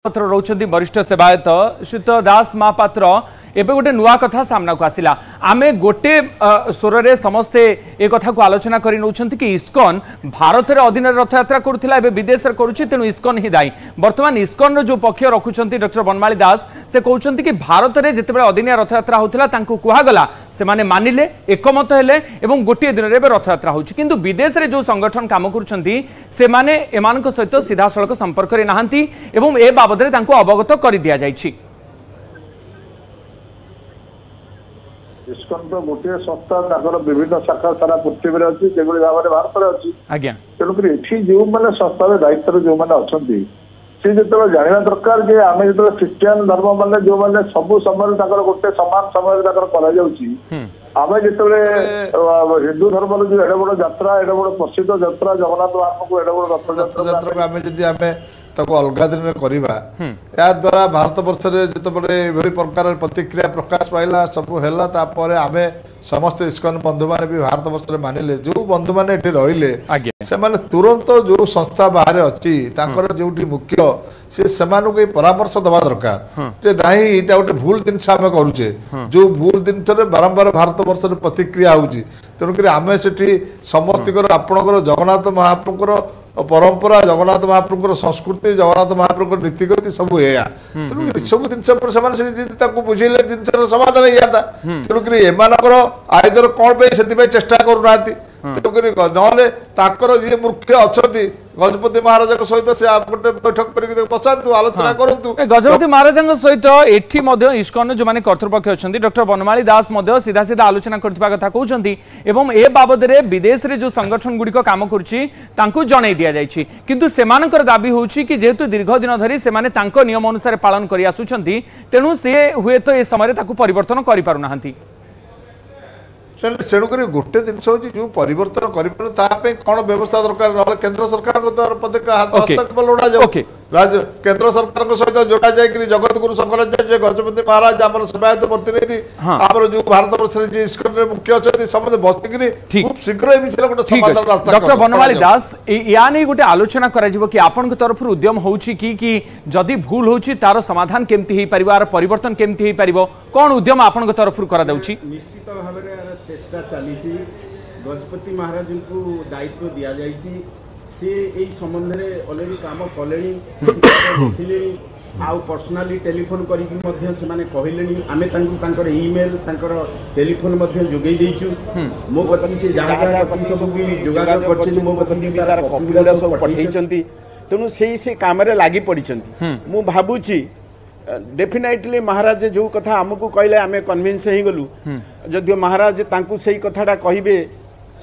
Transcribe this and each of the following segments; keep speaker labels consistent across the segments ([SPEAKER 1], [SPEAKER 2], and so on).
[SPEAKER 1] ପତ୍ର ରହୁଛନ୍ତି ବରିଷ୍ଠ ସେବାୟତ ଶ୍ରୀଯୁକ୍ତ ଦାସ ମହାପାତ୍ର। ଏବେ ଗୋଟେ ନୂଆ କଥା ସାମ୍ନାକୁ ଆସିଲା। ଆମେ ଗୋଟେ ସ୍ୱରରେ ସମସ୍ତେ ଏ କଥାକୁ ଆଲୋଚନା କରି ନେଉଛନ୍ତି କି ଇସ୍କନ ଭାରତରେ ଅଧୀନରେ ରଥଯାତ୍ରା କରୁଥିଲା, ଏବେ ବିଦେଶରେ କରୁଛି, ତେଣୁ ଇସ୍କନ ହିଁ ଦାୟୀ। ବର୍ତ୍ତମାନ ଇସ୍କନର ଯେଉଁ ପକ୍ଷ ରଖୁଛନ୍ତି ଡକ୍ଟର ବନମାଳୀ ଦାସ, ସେ କହୁଛନ୍ତି କି ଭାରତରେ ଯେତେବେଳେ ଅଦିନିଆ ରଥଯାତ୍ରା ହେଉଥିଲା ତାଙ୍କୁ କୁହାଗଲା, ସେମାନେ ମାନିଲେ, ଏକମତ ହେଲେ ଏବଂ ଗୋଟିଏ ଦିନରେ ଏବେ ରଥଯାତ୍ରା ହେଉଛି। କିନ୍ତୁ ବିଦେଶରେ ଯେଉଁ ସଂଗଠନ କାମ କରୁଛନ୍ତି ସେମାନେ ଏମାନଙ୍କ ସହିତ ସିଧାସଳଖ ସମ୍ପର୍କରେ ନାହାନ୍ତି ଏବଂ ଏ ବାବଦରେ ତାଙ୍କୁ ଅବଗତ କରିଦିଆଯାଇଛି।
[SPEAKER 2] ଇସ୍କନ ତ ଗୋଟିଏ ସଂସ୍ଥା, ତାଙ୍କର ବିଭିନ୍ନ ଶାଖା ସାରା ପୃଥିବୀରେ ଅଛି, ଯେଭଳି ଭାବରେ ଭାରତରେ ଅଛି
[SPEAKER 1] ଆଜ୍ଞା।
[SPEAKER 2] ତେଣୁକରି ଏଠି ଯେଉଁମାନେ ସଂସ୍ଥାର ଦାୟିତ୍ୱରେ ଯେଉଁମାନେ ଅଛନ୍ତି, ସେ ଯେତେବେଳେ ଜାଣିବା ଦରକାର ଯେ ଆମେ ଯେତେବେଳେ ଖ୍ରୀଷ୍ଟିଆନ ଧର୍ମ ମାନେ ଯେଉଁମାନେ ସବୁ ସମୟରେ ତାଙ୍କର ଗୋଟେ ସମାନ ସମୟରେ ତାଙ୍କର କରାଯାଉଛି, ଆମେ ଯେତେବେଳେ ହିନ୍ଦୁ ଧର୍ମର ଯୋଉ ଏଡେ ବଡ ଯାତ୍ରା, ଏଡେ ବଡ ପ୍ରସିଦ୍ଧ ଯାତ୍ରା ଜଗନ୍ନାଥ ମହାପ୍ରଭୁ, ଏଡେ ବଡ
[SPEAKER 3] ରଥଯାତ୍ରାକୁ ଆମେ ଯଦି ଆମେ ତାକୁ ଅଲଗା ଦିନରେ କରିବା, ଏହାଦ୍ୱାରା ଭାରତ ବର୍ଷରେ ଯେତେବେଳେ ଏଭଳି ପ୍ରକାର ପ୍ରତିକ୍ରିୟା ପ୍ରକାଶ ପାଇଲା, ସବୁ ହେଲା, ତାପରେ ଆମେ ସମସ୍ତେ ଇସ୍କନ ବନ୍ଧୁମାନେ ବି ଭାରତ ବର୍ଷରେ ମାନିଲେ। ଯେଉଁ ବନ୍ଧୁମାନେ ଏଠି ରହିଲେ ସେମାନେ ତୁରନ୍ତ ଯେଉଁ ସଂସ୍ଥା ବାହାରେ ଅଛି ତାଙ୍କର ଯେଉଁଠି ମୁଖ୍ୟ ସେ ସେମାନଙ୍କୁ ଏଇ ପରାମର୍ଶ ଦେବା ଦରକାର ଯେ ନାହିଁ, ଏଇଟା ଗୋଟେ ଭୁଲ ଜିନିଷ ଆମେ କରୁଛେ, ଯେଉଁ ଭୁଲ ଜିନିଷରେ ବାରମ୍ବାର ଭାରତ ବର୍ଷରେ ପ୍ରତିକ୍ରିୟା ହେଉଛି। ତେଣୁକରି ଆମେ ସେଠି ସମସ୍ତଙ୍କର ଆପଣଙ୍କର ଜଗନ୍ନାଥ ମହାପ୍ରଭୁଙ୍କର ପରମ୍ପରା, ଜଗନ୍ନାଥ ମହାପ୍ରଭୁଙ୍କର ସଂସ୍କୃତି, ଜଗନ୍ନାଥ ମହାପ୍ରଭୁଙ୍କର ନୀତିଗତି ସବୁ ଏଇଆ। ତେଣୁ ଏସବୁ ଜିନିଷ ଉପରେ ସେମାନେ ସେଠି ଯଦି ତାକୁ ବୁଝେଇଲେ ଜିନିଷର ସମାଧାନ ହେଇଯାନ୍ତା। ତେଣୁକରି ଏମାନଙ୍କର ଆଇଦର କ'ଣ ପାଇଁ ସେଥିପାଇଁ ଚେଷ୍ଟା କରୁନାହାନ୍ତି? ତେଣୁକରି ନହେଲେ ତାଙ୍କର ଯିଏ ମୁଖ୍ୟ ଅଛନ୍ତି ଗଜପତି ମହାରାଜାଙ୍କ ସହିତ ସେ ଗୋଟେ ବୈଠକ କରିକି ବସାନ୍ତୁ, ଆଲୋଚନା କରନ୍ତୁ।
[SPEAKER 1] ଗଜପତି ମହାରାଜାଙ୍କ ସହିତ ଏଠି ମଧ୍ୟ ଇସ୍କନ ଯେଉଁମାନେ କର୍ତ୍ତୃପକ୍ଷ ଅଛନ୍ତି, ଡକ୍ଟର ବନମାଳୀ ଦାସ ମଧ୍ୟ ସିଧା ସିଧା ଆଲୋଚନା କରୁଥିବା କଥା କହୁଛନ୍ତି ଏବଂ ଏ ବାବଦରେ ବିଦେଶରେ ଯେଉଁ ସଂଗଠନ ଗୁଡ଼ିକ କାମ କରୁଛି ତାଙ୍କୁ ଜଣାଇ ଦିଆଯାଇଛି। କିନ୍ତୁ ସେମାନଙ୍କର ଦାବି ହେଉଛି କି ଯେହେତୁ ଦୀର୍ଘ ଦିନ ଧରି ସେମାନେ ତାଙ୍କ ନିୟମ ଅନୁସାରେ ପାଳନ କରି ଆସୁଛନ୍ତି, ତେଣୁ ସେ ହୁଏତ ଏ ସମୟରେ ତାକୁ ପରିବର୍ତ୍ତନ କରିପାରୁନାହାନ୍ତି।
[SPEAKER 3] ତେଣୁକରି ଗୋଟେ ଜିନିଷ ହେଉଛି ଯେଉଁ ପରିବର୍ତ୍ତନ କରିପାରୁ ତା ପାଇଁ କ'ଣ ବ୍ୟବସ୍ଥା ଦରକାର, ନହେଲେ କେନ୍ଦ୍ର ସରକାରଙ୍କ ହସ୍ତକ୍ଷେପ ଲୋଡ଼ାଯାଉ। ରାଜ୍ୟ କେନ୍ଦ୍ର ସରକାରଙ୍କ ସହିତ ଯୋଡ଼ା ଯାଇକରି ଜଗତଗୁରୁ ଶଙ୍କରାଚାର୍ଯ୍ୟ, ଗଜପତି ମହାରାଜ, ଆମର ସେବାୟତ ପ୍ରତିନିଧି, ଆମର ଯୋଉ ଭାରତ ବର୍ଷରେ ଯିଏ ଇସ୍କନରେ ମୁଖ୍ୟ ଅଛନ୍ତି, ସମସ୍ତେ ବସିକିରି ଖୁବ୍ ଶୀଘ୍ର ଏ ବିଷୟରେ ଗୋଟେ ସମାଧାନ ରାସ୍ତା।
[SPEAKER 1] ଡକ୍ଟର ବନମାଳୀ ଦାସ, ୟା ନେଇ ଗୋଟେ ଆଲୋଚନା କରାଯିବ କି? ଆପଣଙ୍କ ତରଫରୁ ଉଦ୍ୟମ ହେଉଛି କି କି ଯଦି ଭୁଲ ହେଉଛି ତାର ସମାଧାନ କେମିତି ହେଇପାରିବ, ଆର ପରିବର୍ତ୍ତନ କେମିତି ହେଇପାରିବ, କ'ଣ ଉଦ୍ୟମ ଆପଣଙ୍କ ତରଫରୁ କରାଯାଉଛି?
[SPEAKER 4] ନିଶ୍ଚିତ ଭାବରେ ଚେଷ୍ଟା ଚାଲିଛି। ଗଜପତି ମହାରାଜଙ୍କୁ ଦାୟିତ୍ୱ ଦିଆଯାଇଛି, ସେ ଏଇ ସମ୍ବନ୍ଧରେ ଅଲରେଡ଼ି କାମ କଲେଣି, ଦେଖିଲେଣି, ଆଉ ପର୍ସନାଲି ଟେଲିଫୋନ୍ କରିକି ମଧ୍ୟ ସେମାନେ କହିଲେଣି। ଆମେ ତାଙ୍କୁ ତାଙ୍କର ଇମେଲ୍, ତାଙ୍କର ଟେଲିଫୋନ୍ ମଧ୍ୟ ଯୋଗାଇ ଦେଇଛୁ। ମୋ କତିକି ସେ ଯାହା ଯାହା କତିକି ସବୁ ବି ଯୋଗାଯୋଗ କରିଛନ୍ତି, ମୋ କତିକି ବି ତାର କପି ଗୁଡ଼ା ସବୁ ପଠେଇଛନ୍ତି। ତେଣୁ ସେଇ ସେ କାମରେ ଲାଗି ପଡ଼ିଛନ୍ତି। ମୁଁ ଭାବୁଛି ଡେଫିନାଇଟଲି ମହାରାଜ ଯେଉଁ କଥା ଆମକୁ କହିଲେ ଆମେ କନଭିନ୍ସ ହେଇଗଲୁ। ଯଦିଓ ମହାରାଜ ତାଙ୍କୁ ସେଇ କଥାଟା କହିବେ,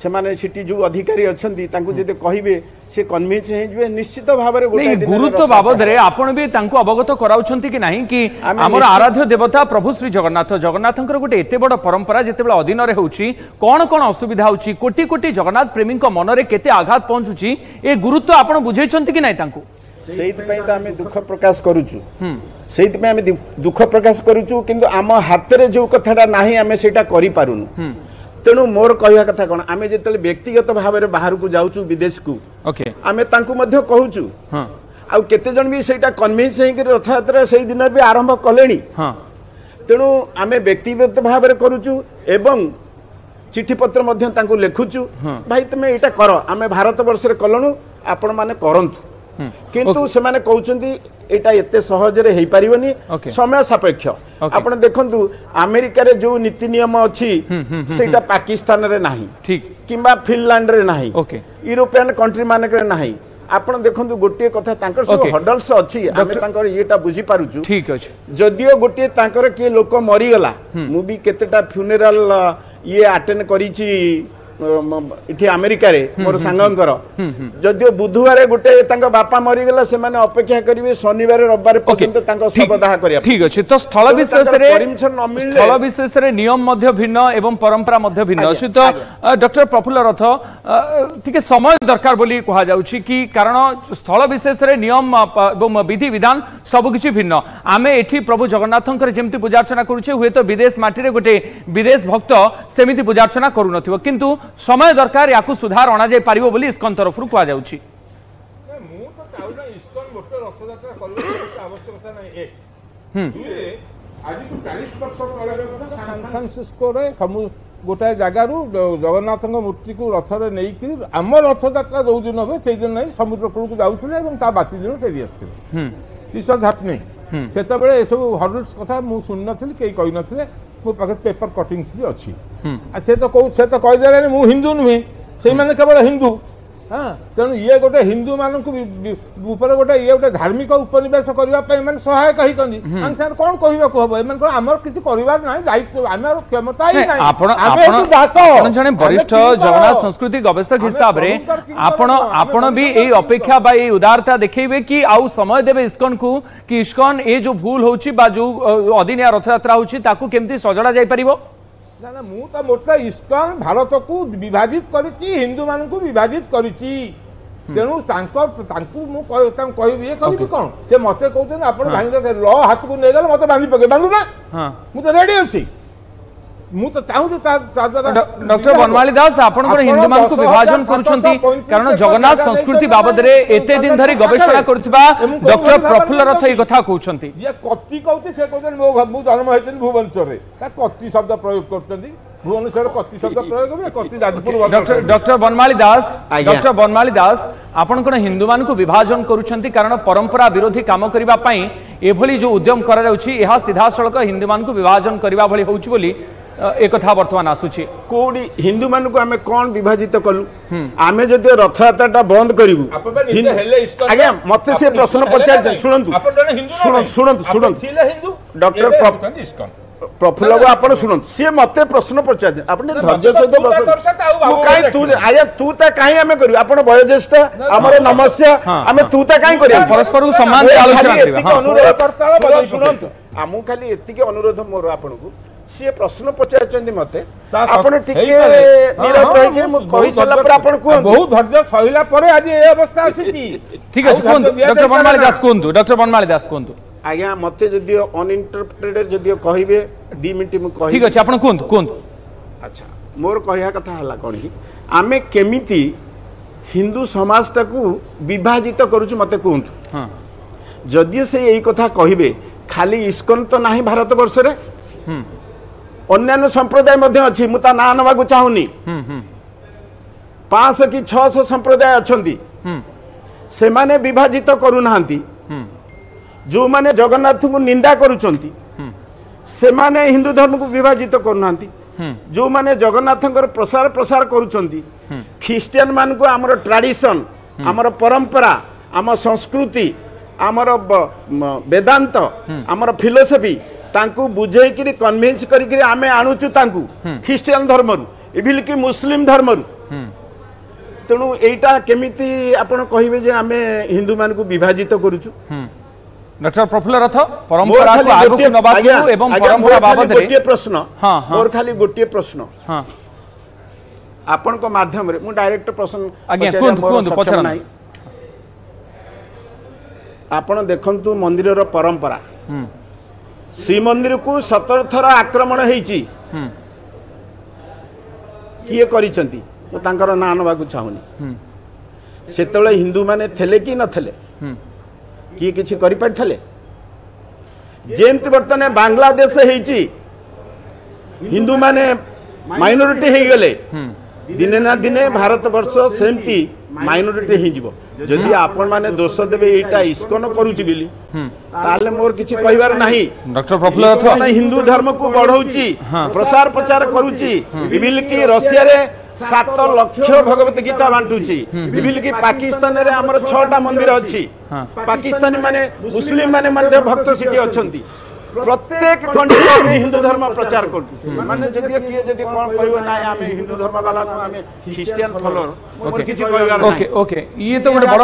[SPEAKER 4] ସେମାନେ ସେଠି ଯେଉଁ ଅଧିକାରୀ ଅଛନ୍ତି ତାଙ୍କୁ ଯଦି କହିବେ ସେ କନଭିନ୍ସ ହେଇଯିବେ ନିଶ୍ଚିତ ଭାବରେ।
[SPEAKER 1] ଗୁରୁତ୍ୱ ବାବଦରେ ଆପଣ ବି ତାଙ୍କୁ ଅବଗତ କରାଉଛନ୍ତି କି ନାହିଁ କି ଆମର ଆରାଧ୍ୟ ଦେବତା ପ୍ରଭୁ ଶ୍ରୀ ଜଗନ୍ନାଥ, ଜଗନ୍ନାଥଙ୍କର ଗୋଟେ ଏତେ ବଡ଼ ପରମ୍ପରା ଯେତେବେଳେ ଅଧୀନରେ ହେଉଛି, କ'ଣ କ'ଣ ଅସୁବିଧା ହେଉଛି, କୋଟି କୋଟି ଜଗନ୍ନାଥ ପ୍ରେମୀଙ୍କ ମନରେ କେତେ ଆଘାତ ପହଞ୍ଚୁଛି, ଏ ଗୁରୁତ୍ୱ ଆପଣ ବୁଝେଇଛନ୍ତି କି ନାହିଁ ତାଙ୍କୁ?
[SPEAKER 4] ସେଇଥିପାଇଁ ତ ଆମେ ଦୁଃଖ ପ୍ରକାଶ କରୁଛୁ, ସେଇଥିପାଇଁ ଆମେ ଦୁଃଖ ପ୍ରକାଶ କରୁଛୁ। କିନ୍ତୁ ଆମ ହାତରେ ଯେଉଁ କଥାଟା ନାହିଁ ଆମେ ସେଇଟା କରିପାରୁନୁ। ତେଣୁ ମୋର କହିବା କଥା କ'ଣ, ଆମେ ଯେତେବେଳେ ବ୍ୟକ୍ତିଗତ ଭାବରେ ବାହାରକୁ ଯାଉଛୁ ବିଦେଶକୁ, ଆମେ ତାଙ୍କୁ ମଧ୍ୟ କହୁଛୁ, ଆଉ କେତେ ଜଣ ବି ସେଇଟା କନଭିନ୍ସ ହେଇକରି ରଥଯାତ୍ରା ସେଇ ଦିନ ବି ଆରମ୍ଭ କଲେଣି। ତେଣୁ ଆମେ ବ୍ୟକ୍ତିଗତ ଭାବରେ କରୁଛୁ ଏବଂ ଚିଠିପତ୍ର ମଧ୍ୟ ତାଙ୍କୁ ଲେଖୁଛୁ, ଭାଇ ତୁମେ ଏଇଟା କର, ଆମେ ଭାରତ ବର୍ଷରେ କଲୁଣୁ, ଆପଣମାନେ କରନ୍ତୁ। କିନ୍ତୁ ସେମାନେ କହୁଛନ୍ତି ଏଇଟା ଏତେ ସହଜରେ ହେଇପାରିବନି, ସମୟ ସାପେକ୍ଷ। ଆପଣ ଦେଖନ୍ତୁ ଆମେରିକାରେ ଯୋଉ ନୀତି ନିୟମ ଅଛି ସେଇଟା ପାକିସ୍ତାନରେ ନାହିଁ, କିମ୍ବା ଫିନଲାଣ୍ଡରେ ନାହିଁ, ୟୁରୋପିଆନ କଣ୍ଟ୍ରି ମାନଙ୍କରେ ନାହିଁ। ଆପଣ ଦେଖନ୍ତୁ ଗୋଟିଏ କଥା, ତାଙ୍କର ସବୁ ହଡଲ୍ସ ଅଛି, ଆମେ ତାଙ୍କର ଇଏଟା ବୁଝିପାରୁଛୁ।
[SPEAKER 1] ଠିକ ଅଛି,
[SPEAKER 4] ଯଦିଓ ଗୋଟିଏ ତାଙ୍କର କିଏ ଲୋକ ମରିଗଲା, ମୁଁ ବି କେତେଟା ଫ୍ୟୁନେରାଲ ଇଏ ଆଟେଣ୍ଡ କରିଛି ଏଠି ଆମେରିକାରେ ମୋର ସାଙ୍ଗଙ୍କର, ଯଦିଓ ବୁଧବାର ଗୋଟେ ତାଙ୍କ ବାପା ମରିଗଲା, ସେମାନେ ଅପେକ୍ଷା କରିବେ ଶନିବାର ରବିବାର ପର୍ଯ୍ୟନ୍ତ ତାଙ୍କ ଶବଦାହ କରିବା।
[SPEAKER 1] ଠିକ ଅଛି, ତ ସ୍ଥଳ ବିଶେଷରେ ସ୍ଥଳ ବିଶେଷରେ ନିୟମ ମଧ୍ୟ ଭିନ୍ନ ଏବଂ ପରମ୍ପରା ମଧ୍ୟ ଭିନ୍ନ। ସହିତ ଡକ୍ଟର ପ୍ରଫୁଲ୍ଲ ରଥ, ଟିକେ ସମୟ ଦରକାର ବୋଲି କୁହାଯାଉଛି କି, କାରଣ ସ୍ଥଳ ବିଶେଷରେ ନିୟମ ଏବଂ ବିଧି ବିଧାନ ସବୁକିଛି ଭିନ୍ନ। ଆମେ ଏଠି ପ୍ରଭୁ ଜଗନ୍ନାଥଙ୍କର ଯେମିତି ପୂଜାର୍ଚ୍ଚନା କରୁଛେ, ହୁଏତ ବିଦେଶ ମାଟିରେ ଗୋଟେ ବିଦେଶ ଭକ୍ତ ସେମିତି ପୂଜାର୍ଚ୍ଚନା କରୁନଥିବ, କିନ୍ତୁ ସମୟ ଦରକାର, ୟାକୁ ସୁଧାର ଅଣାଯାଇ ପାରିବ ବୋଲି ଇସ୍କନ ତରଫରୁ କୁହାଯାଉଛି।
[SPEAKER 5] ମୁଁ ତ ଚାହୁଁନା ଇସ୍କନ ଗୋଟେ ରଥଯାତ୍ରା କରିବା ଆବଶ୍ୟକତା କଥା ନାହିଁ ଏକ। ଦୁଇରେ, ଆଜିକୁ 40 ବର୍ଷ ତଳର କଥା, ସାନ୍ ଫ୍ରାନ୍ସିସ୍କୋରେ ଗୋଟାଏ ଜାଗାରୁ ଜଗନ୍ନାଥଙ୍କ ମୂର୍ତ୍ତିକୁ ରଥରେ ନେଇକରି ଆମ ରଥଯାତ୍ରା ଯୋଉ ଦିନ ହୁଏ ସେଇଦିନ ନେଇ ସମୁଦ୍ର କୂଳକୁ ଯାଉଥିଲେ ଏବଂ ତା ବାସି ଦିନ ଫେରି ଆସୁଥିଲେ। This was happening. ସେତେବେଳେ ଏସବୁ ହର୍ଡଲ୍ସ କଥା ମୁଁ ଶୁଣିନଥିଲି, କେହି କହିନଥିଲେ। ମୋ ପାଖରେ ପେପର କଟିଂସ୍ ବି ଅଛି। ଆଉ ସେ ତ କହିଦେଲେଣି ମୁଁ ହିନ୍ଦୁ ନୁହେଁ, ସେଇମାନେ କେବଳ ହିନ୍ଦୁ। ହଁ, ତେଣୁ ଇଏ ଗୋଟେ ହିନ୍ଦୁମାନଙ୍କୁ ଉପରେ ଗୋଟେ ଇଏ ଗୋଟେ ଧାର୍ମିକ ଉପନିବେଶ କରିବା ପାଇଁ ଏମାନେ ସହାୟକ ହେଇଛନ୍ତି। ତାଙ୍କ ସାଙ୍ଗରେ କ'ଣ କହିବାକୁ ହବ? ଏମାନଙ୍କର ଆମର କିଛି କରିବାର ନାହିଁ, ଦାୟିତ୍ୱ ଆମର କ୍ଷମତା ହିଁ ନାହିଁ।
[SPEAKER 1] ଆପଣ
[SPEAKER 5] ଆମେ
[SPEAKER 1] ଆପଣ
[SPEAKER 5] ହେଉଛୁ ଦାସ।
[SPEAKER 1] ଆପଣ ଜଣେ
[SPEAKER 5] ଆମେ
[SPEAKER 1] ବରିଷ୍ଠ
[SPEAKER 5] କିଙ୍କର।
[SPEAKER 1] ଜଗନ୍ନାଥ ସଂସ୍କୃତି ଗବେଷକ
[SPEAKER 5] ଆମେ
[SPEAKER 1] ହିସାବରେ
[SPEAKER 5] ପ୍ରଭୁଙ୍କର କିଙ୍କର
[SPEAKER 1] ଆପଣ
[SPEAKER 5] ନୁହଁ, ଆମେ
[SPEAKER 1] ଆପଣ ବି
[SPEAKER 5] ପ୍ରଭୁଙ୍କର
[SPEAKER 1] ଏଇ
[SPEAKER 5] କିଙ୍କର।
[SPEAKER 1] ଅପେକ୍ଷା ବା ଏଇ ଉଦାରତା ଦେଖେଇବେ କି ଆଉ ସମୟ ଦେବେ ଇସ୍କନକୁ କି ଇସ୍କନ ଏ ଯୋଉ ଭୁଲ ହଉଛି ବା ଯୋଉ ଅଦିନିଆ ରଥଯାତ୍ରା ହଉଛି ତାକୁ କେମିତି ସଜଡ଼ା ଯାଇପାରିବ?
[SPEAKER 5] ନା ନା, ମୁଁ ତ ମୋଟେ ଇସ୍କନ ଭାରତକୁ ବିଭାଜିତ କରିଛି, ହିନ୍ଦୁମାନଙ୍କୁ ବିଭାଜିତ କରିଛି। ତେଣୁ ତାଙ୍କୁ ମୁଁ ତାଙ୍କୁ କହିବି, ଇଏ କହିବି କ'ଣ? ସେ ମତେ କହୁଛନ୍ତି ଆପଣ ଭାଙ୍ଗି ଲ ହାତକୁ ନେଇଗଲେ ମତେ ବାନ୍ଧି ପକେଇ ବାନ୍ଧୁ ନା, ମୁଁ ତ ରେଡି ଅଛି। ମୁଁ ତ ଚାହୁଁଛି ତା ଦ୍ୱାରା
[SPEAKER 1] ଡକ୍ଟର ବନମାଳୀ ଦାସ, ଆପଣଙ୍କର ହିନ୍ଦୁମାନଙ୍କୁ ବିଭାଜନ କରୁଛନ୍ତି, କାରଣ ଜଗନ୍ନାଥ ସଂସ୍କୃତି ବାବଦରେ ଏତେ ଦିନ ଧରି ଗବେଷଣା କରୁଥିବା ଡକ୍ଟର ପ୍ରଫୁଲ୍ଲ ରଥ ଏଇ କଥା କହୁଛନ୍ତି।
[SPEAKER 5] ଯିଏ କତି କହୁଛି, ସେ କହୁଛନ୍ତି ମୁଁ ଜନ୍ମ ହେଇଥିଲି ଭୁବନେଶ୍ୱରରେ, ତା କତି ଶବ୍ଦ ପ୍ରୟୋଗ କରୁଛନ୍ତି। ଭୁବନେଶ୍ୱରରେ କତି ଶବ୍ଦ ପ୍ରୟୋଗ ହୁଏ? କତି ଯାଜପୁର।
[SPEAKER 1] ଡକ୍ଟର ବନମାଳୀ ଦାସ,
[SPEAKER 4] ଆଜ୍ଞା।
[SPEAKER 1] ଡକ୍ଟର ବନମାଳୀ ଦାସ, ଆପଣ କ'ଣ ହିନ୍ଦୁମାନଙ୍କୁ ବିଭାଜନ କରୁଛନ୍ତି? କାରଣ ପରମ୍ପରା ବିରୋଧୀ କାମ କରିବା ପାଇଁ ଏଭଳି ଯୋଉ ଉଦ୍ୟମ କରାଯାଉଛି, ଏହା ସିଧାସଳଖ ହିନ୍ଦୁମାନଙ୍କୁ ବିଭାଜନ କରିବା ଭଳି ହେଉଛି ବୋଲି ଏ କଥା ବର୍ତ୍ତମାନ ଆସୁଛି।
[SPEAKER 4] କୋଉଠି ହିନ୍ଦୁମାନଙ୍କୁ ଆମେ କ'ଣ ବିଭାଜିତ କଲୁ? ଆମେ ଯଦି ରଥଯାତ୍ରାଟା ବନ୍ଦ କରିବୁ
[SPEAKER 5] ଆପଣ ପା ନିଜେ ହେଲେ ଇସ୍କନ।
[SPEAKER 4] ଆଜ୍ଞା, ମତେ ସେ
[SPEAKER 5] ଆପଣ
[SPEAKER 4] ପ୍ରଶ୍ନ
[SPEAKER 5] ଇସ୍କନ ହେଲେ
[SPEAKER 4] ପଚାରିଛନ୍ତି।
[SPEAKER 5] ନା ନାହିଁ?
[SPEAKER 4] ଶୁଣନ୍ତୁ,
[SPEAKER 5] ଆପଣ ଜଣେ ହିନ୍ଦୁ ନା
[SPEAKER 4] ଶୁଣନ୍ତୁ,
[SPEAKER 5] ନାହିଁ?
[SPEAKER 4] ଶୁଣନ୍ତୁ,
[SPEAKER 5] ଆପଣ
[SPEAKER 4] ଶୁଣନ୍ତୁ।
[SPEAKER 5] ଥିଲେ ହିନ୍ଦୁ,
[SPEAKER 4] ଡକ୍ଟର
[SPEAKER 5] ଏବେ ହେଉଛନ୍ତି ଇସ୍କନ।
[SPEAKER 4] ପ୍ରଫୁଲ୍ଲ ବାବୁ, ଆପଣ ଶୁଣନ୍ତୁ, ସିଏ ମତେ ପ୍ରଶ୍ନ ପଚାରିଛନ୍ତି, ଆପଣ ଟିକେ
[SPEAKER 5] ନା,
[SPEAKER 4] ଧୈର୍ଯ୍ୟ
[SPEAKER 5] ମତେ ତ
[SPEAKER 4] ସହିତ
[SPEAKER 5] ତୁ ତା
[SPEAKER 4] ପ୍ରଶ୍ନ
[SPEAKER 5] କରିସାରିତ ଆଉ
[SPEAKER 4] ମୁଁ
[SPEAKER 5] ବାବୁ
[SPEAKER 4] କାହିଁ
[SPEAKER 5] ବୋଲି
[SPEAKER 4] ତୁ
[SPEAKER 5] ଡାକିବେନି।
[SPEAKER 4] ଆଜ୍ଞା, ତୁ ତା କାହିଁ ଆମେ କରିବୁ? ଆପଣ ବୟୋଜ୍ୟେଷ୍ଠ, ଆମର ନମସ୍ୟ, ଆମେ ତୁ ତା କାହିଁ କରିବୁ?
[SPEAKER 1] ପରସ୍ପରକୁ ସମ୍ମାନ ଦେଇ
[SPEAKER 4] ମୋର
[SPEAKER 1] ଆଲୋଚନା
[SPEAKER 4] ଖାଲି
[SPEAKER 1] କରିବା।
[SPEAKER 4] ଏତିକି ଅନୁରୋଧ,
[SPEAKER 5] କରତାଳ ବଜାଇ
[SPEAKER 4] ଶୁଣନ୍ତୁ, ଆମକୁ ଖାଲି ଏତିକି ଅନୁରୋଧ ମୋର ଆପଣଙ୍କୁ, ସିଏ ପ୍ରଶ୍ନ ପଚାରିଛନ୍ତି ମତେ,
[SPEAKER 5] ତା
[SPEAKER 4] ଆପଣ ଟିକେ
[SPEAKER 5] ହେଇପାରେ।
[SPEAKER 4] ନୀରବ ରହିକି ମୁଁ
[SPEAKER 5] ବହୁତ
[SPEAKER 4] କହିସାରିଲା ପରେ
[SPEAKER 5] ଧୈର୍ଯ୍ୟ
[SPEAKER 4] ଆପଣ କୁହନ୍ତୁ।
[SPEAKER 5] ବହୁତ ଧୈର୍ଯ୍ୟ ସହିଲା ପରେ ଆଜି ଏ ଅବସ୍ଥା ଆସିଛି।
[SPEAKER 1] ଠିକ ଅଛି,
[SPEAKER 5] ଆଉ
[SPEAKER 1] କୁହନ୍ତୁ।
[SPEAKER 5] ଧୈର୍ଯ୍ୟ
[SPEAKER 1] ଡକ୍ଟର ବନମାଳୀ
[SPEAKER 5] ଦିଆଯାଇପାରେ
[SPEAKER 1] ଦାସ
[SPEAKER 5] ନା।
[SPEAKER 1] କୁହନ୍ତୁ, ଡକ୍ଟର ବନମାଳୀ ଦାସ କୁହନ୍ତୁ।
[SPEAKER 4] ଆଜ୍ଞା, ମତେ ଯଦି ଅନଇଣ୍ଟରପ୍ଟେଡ୍ ଯଦି କହିବେ 2 ମିନିଟ୍ ମୁଁ କହିବି।
[SPEAKER 1] ଠିକ ଅଛି, ଆପଣ କୁହନ୍ତୁ, କୁହନ୍ତୁ।
[SPEAKER 4] ଆଚ୍ଛା, ମୋର କହିବା କଥା ହେଲା କ'ଣ କି ଆମେ କେମିତି ହିନ୍ଦୁ ସମାଜଟାକୁ ବିଭାଜିତ କରୁଛୁ ମତେ କୁହନ୍ତୁ। ଯଦି ସେ ଏଇ କଥା କହିବେ, ଖାଲି ଇସ୍କନ ତ ନାହିଁ ଭାରତ ବର୍ଷରେ, ଅନ୍ୟାନ୍ୟ ସମ୍ପ୍ରଦାୟ ମଧ୍ୟ ଅଛି, ମୁଁ ତା ନାଁ ନେବାକୁ ଚାହୁଁନି। 500 କି 600 ସମ୍ପ୍ରଦାୟ ଅଛନ୍ତି, ସେମାନେ ବିଭାଜିତ କରୁନାହାନ୍ତି। ଯେଉଁମାନେ ଜଗନ୍ନାଥଙ୍କୁ ନିନ୍ଦା କରୁଛନ୍ତି ସେମାନେ ହିନ୍ଦୁ ଧର୍ମକୁ ବିଭାଜିତ କରୁନାହାନ୍ତି। ଯେଉଁମାନେ ଜଗନ୍ନାଥଙ୍କର ପ୍ରସାର ପ୍ରସାର କରୁଛନ୍ତି, ଖ୍ରୀଷ୍ଟିଆନ ମାନଙ୍କୁ ଆମର ଟ୍ରାଡିସନ, ଆମର ପରମ୍ପରା, ଆମ ସଂସ୍କୃତି, ଆମର ବେଦାନ୍ତ, ଆମର ଫିଲୋସଫି ତାଙ୍କୁ ବୁଝେଇକିରି କନଭିନ୍ସ କରିକିରି ଆମେ ଆଣୁଛୁ ତାଙ୍କୁ ଖ୍ରୀଷ୍ଟିଆନ ଧର୍ମରୁ, ଇଭିନ୍ କି ମୁସଲିମ ଧର୍ମରୁ। ତେଣୁ ଏଇଟା କେମିତି ଆପଣ କହିବେ ଯେ ଆମେ ହିନ୍ଦୁମାନଙ୍କୁ ବିଭାଜିତ କରୁଛୁ?
[SPEAKER 1] ଡକ୍ଟର ପ୍ରଫୁଲ୍ଲ ରଥ,
[SPEAKER 4] ମୋର
[SPEAKER 1] ପରମ୍ପରାକୁ
[SPEAKER 4] ଖାଲି
[SPEAKER 1] ଆଗକୁ
[SPEAKER 4] ଗୋଟିଏ
[SPEAKER 1] ନେବାକୁ
[SPEAKER 4] ଆଜ୍ଞା,
[SPEAKER 1] ଏବଂ
[SPEAKER 4] ଆଜ୍ଞା,
[SPEAKER 1] ପରମ୍ପରା
[SPEAKER 4] ମୋର ଖାଲି
[SPEAKER 1] ବାବଦରେ
[SPEAKER 4] ଗୋଟିଏ ପ୍ରଶ୍ନ,
[SPEAKER 1] ହଁ, ହଁ।
[SPEAKER 4] ମୋର ଖାଲି ଗୋଟିଏ ପ୍ରଶ୍ନ
[SPEAKER 1] ହଁ
[SPEAKER 4] ଆପଣଙ୍କ ମାଧ୍ୟମରେ, ମୁଁ ଡାଇରେକ୍ଟ ପ୍ରଶ୍ନ
[SPEAKER 1] ଆଜ୍ଞା,
[SPEAKER 4] ପଚାରିବା
[SPEAKER 1] କୁହନ୍ତୁ,
[SPEAKER 4] ମୋର
[SPEAKER 1] କୁହନ୍ତୁ,
[SPEAKER 4] ସକ୍ଷମ
[SPEAKER 1] ପଚାରନ୍ତୁ।
[SPEAKER 4] ନାହିଁ। ଆପଣ ଦେଖନ୍ତୁ ମନ୍ଦିରର ପରମ୍ପରା, ଶ୍ରୀମନ୍ଦିରକୁ 17 ଥର ଆକ୍ରମଣ ହେଇଛି, କିଏ କରିଛନ୍ତି ମୁଁ ତାଙ୍କର ନାଁ ନେବାକୁ ଚାହୁଁନି। ସେତେବେଳେ ହିନ୍ଦୁମାନେ ଥିଲେ କି ନଥିଲେ? କିଏ କିଛି କରିପାରିଥିଲେ? ଯେମିତି ବର୍ତ୍ତମାନ ବାଂଲାଦେଶ ହେଇଛି, ହିନ୍ଦୁମାନେ ମାଇନରିଟି ହେଇଗଲେ, ଦିନେ ନା ଦିନେ ଭାରତ ବର୍ଷ ସେମିତି ମାଇନରିଟି ହେଇଯିବ। ଯଦି ଆପଣମାନେ ଦୋଷ ଦେବେ ଏଇଟା ଇସ୍କନ କରୁଛି ବୋଲି, ତାହେଲେ ମୋର କିଛି କହିବାର ନାହିଁ।
[SPEAKER 1] ଡକ୍ଟର ପ୍ରଫୁଲ୍ଲ ରଥ,
[SPEAKER 4] ଇସ୍କନ ହିନ୍ଦୁ ଧର୍ମକୁ ବଢଉଛି, ପ୍ରସାର ପ୍ରଚାର କରୁଛି। ଇଭିନ୍ କି ରଷିଆରେ 7 ଲକ୍ଷ ଭଗବତ ଗୀତା ବାଣ୍ଟୁଛି। ଇଭିନ୍ କି ପାକିସ୍ତାନରେ ଆମର ଛଅଟା ମନ୍ଦିର ଅଛି, ପାକିସ୍ତାନୀ ମାନେ ମୁସଲିମ ମାନେ ମଧ୍ୟ ଭକ୍ତ ସେଠି ଅଛନ୍ତି। ପ୍ରତ୍ୟେକ କଣ୍ଟ୍ରି ଆମେ ହିନ୍ଦୁ ଧର୍ମ ପ୍ରଚାର କରୁଛୁ। ମାନେ ଯଦି କିଏ ଯଦି କ'ଣ କହିବ ନାଇଁ ଆମେ ହିନ୍ଦୁ ଧର୍ମ ବାଲା ନୁହଁ, ଆମେ ଖ୍ରୀଷ୍ଟିଆନ ଫଲୋଅର, ମୋର କିଛି କହିବାର
[SPEAKER 1] ଓକେ
[SPEAKER 4] ନାହିଁ।
[SPEAKER 1] ଓକେ, ଇଏ ତ ଗୋଟେ ବଡ଼